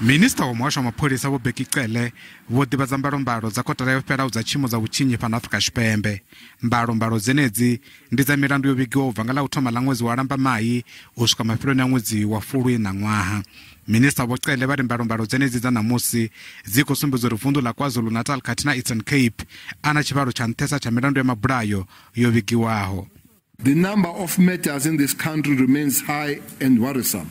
Minista wa muhasho wa mapholisa Vho Bheki Cele vho ḓivhadza mbalombalo dza kotara yo fhelaho dza tshiimo dza vhutshinyi fhano Afrika Tshipembe. Mbalombalo dzenedzi ndi dza milandu yo vhigiwaho u bva nga ḽa u thoma ḽa ṅwedzi wa Lambamai u swika mafheloni a ṅwedzi wa Fulwi ṋaṅwaha. Minista Vho Cele vha ri mbalombalo dzenedzi dza ṋamusi dzi khou sumbedza uri vunḓu ḽa KwaZulu-Natal khathihi na Eastern Cape a na tshivhalo tsha nṱhesa tsha milandu ya mabulayo yo vhigiwaho. The number of murders in this country remains high and worrisome.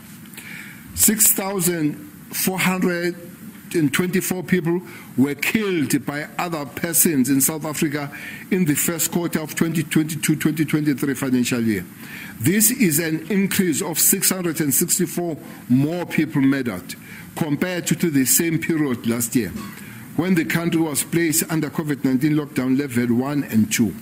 6,424 people were killed by other persons in South Africa in the first quarter of 2022-2023 financial year. This is an increase of 664 more people murdered compared to the same period last year, when the country was placed under COVID-19 lockdown level 1 and 2.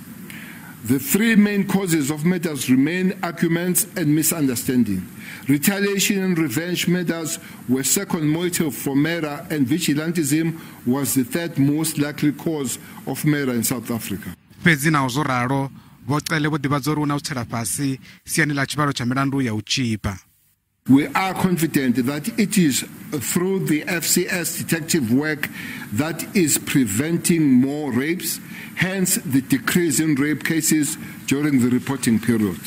The three main causes of murders remain arguments and misunderstanding. Retaliation and revenge murders were second motive for murder, and vigilantism was the third most likely cause of murder in South Africa. Fhedzi naho zwo ralo, Vho Cele vho ḓivhadza uri hu na u tsela fhasi siani ḽa tshivhalo tsha milandu ya u tzhipa. We are confident that it is through the FCS detective work that is preventing more rapes, hence the decrease in rape cases during the reporting period.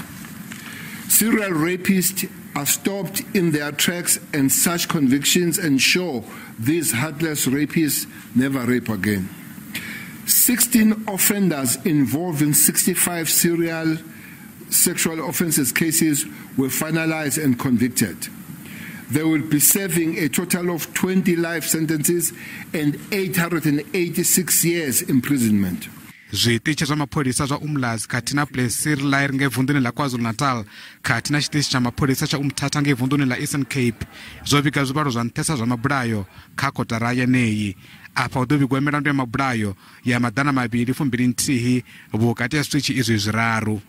Serial rapists are stopped in their tracks, and such convictions ensure these heartless rapists never rape again. 16 offenders involved in 65 serial sexual offences cases were finalized and convicted. They will be serving a total of 20 life sentences and 886 years imprisonment. Zwiṱitshi zwa mapholisa zwa Umlazi khathihi na Plessislaer ngei vunḓuni ḽa KwaZulu-Natal khathihi na tshiṱitshi tsha mapholisa tsha Umthatha ngei vunḓuni ḽa Eastern Cape zwo vhiga zwivhalo zwa nṱhesa zwa mabulayo kha kotara yeneyi. Afha hu ḓo vhigwa milandu ya mabulayo ya 221 vhukati ha zwiṱitshi izwi zwiraru.